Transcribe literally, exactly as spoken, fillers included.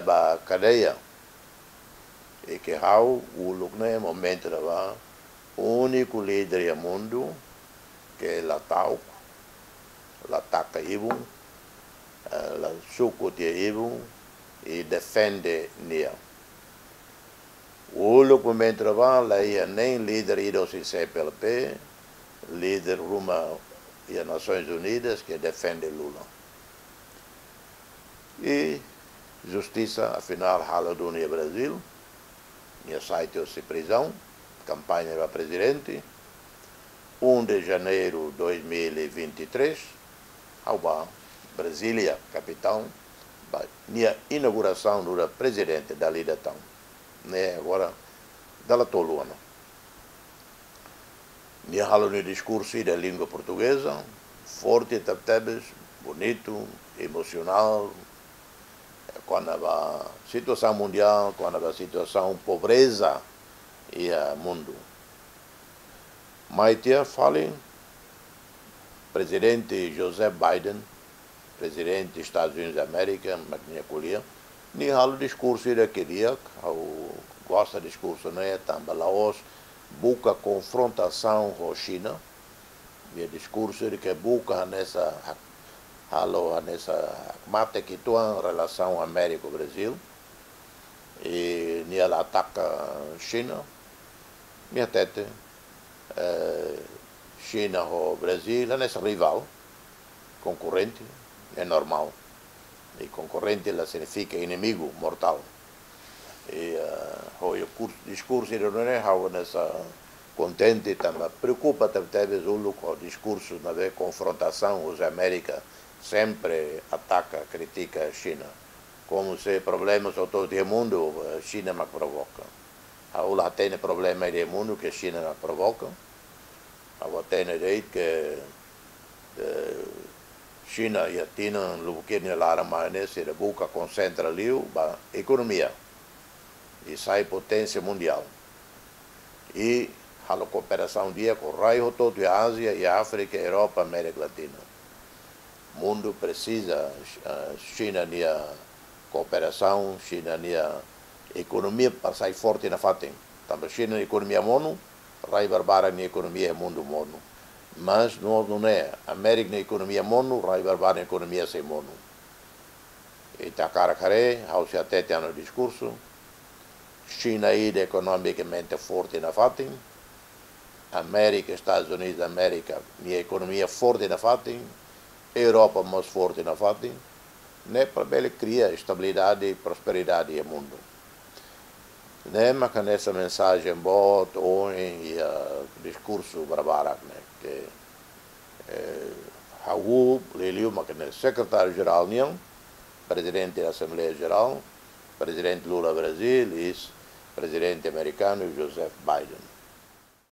ba kadeia. I ke ha'u uluk ne'e momentu ne'ebá úniku líder iha mundu ke la ta'uk, la taka ibun, eh, la suku tiha ibun, i defende nia. Uluk momentu ne'ebá la iha nein líder ida husi C P L P, líder ruma iha Nasoins Unidas ke defende Lula. I justisa, afinál, halo duni iha Brazil, nia sai tiha husi prizaun, kampaña ba prezidente, um de janeiro dois mil e vinte e três, ha'u ba Brasília, kapitál, ba nia inaugurasaun nu'udar prezidente dala ida tan. Ne'e agora dala tolu ona. Nia halo nia diskursu iha língua portugeza, forte tebetebes, bonitu, emosionál, kona-ba situasaun mundiál, kona-ba situasaun pobreza iha mundu. Mai tiha fali Prezidente Joseph Biden, Prezidente Estadus Unidus da Amérika, mak nia ko'alia, nia halo diskursu ida ke di'ak, ha'u gosta diskursu ne'e, tanba la'ós buka konfrontasaun ho Xina, nia diskursu ida ke buka hanesan hak-, halo hanesan hakmatek uitoan relasaun Amérika Brazil, i nia la ataka Xina, nia hatete, eh, Xina ho Brazil hanesan rivál, konkorrente, é normál. I konkorrente la signifika inimigu mortál. I, eh, ho iha kurs-, diskursu ida ne'e ha'u hanesan kontente tanba preokupa tebetebes uluk ho diskursu ne'ebé konfrontasaun husi Amérika sempre ataka, kritika Xina. Komu se problema hotu-hotu iha mundu, eh, Xina mak provoka. Ha'u la hatene problema iha mundu ke Xina mak provoka. Ha'u hatene de'it ke, eh, Xina iha tinan lubuk ida nia laran mai ne'e sira buka konsentra liu ba ekonomia. I sai poténsia mundiál. I halo kooperasaun di'ak ho rai hotu-hotu iha Ázia, iha Áfrika, Europa, Amérika Latina. Mundu presiza, eh, Xina nia kooperasaun, Xina nia ekonomia para sai forte nafatin. Tanba Xina nia ekonomia monu, rai barbarak nia ekonomia iha mundu monu. Mas no, no ne'e, Amérika nia ekonomia monu, rai barbarak nia ekonomia sei monu. Ita hakarak haree, ha'u sei hatete iha ha'u-nia diskursu, Xina ida ekonomikamente forte nafatin, Amérika, Estadus Unidus da Amérika, nia ekonomia forte nafatin, Europa mós forte nafatin, ne'e para bele kria estabilidade i prosperidade iha mundu. Ne'e mak hanesan mensajen boot ohin iha diskursu barbarak ne'e ke, eh, ha'u liuliu mak ne'e Sekretáriu-Jerál nian, Prezidente da Asembleia Jerál, Prezidente Lula Brazil i Prezidente amerikanu Joseph Biden.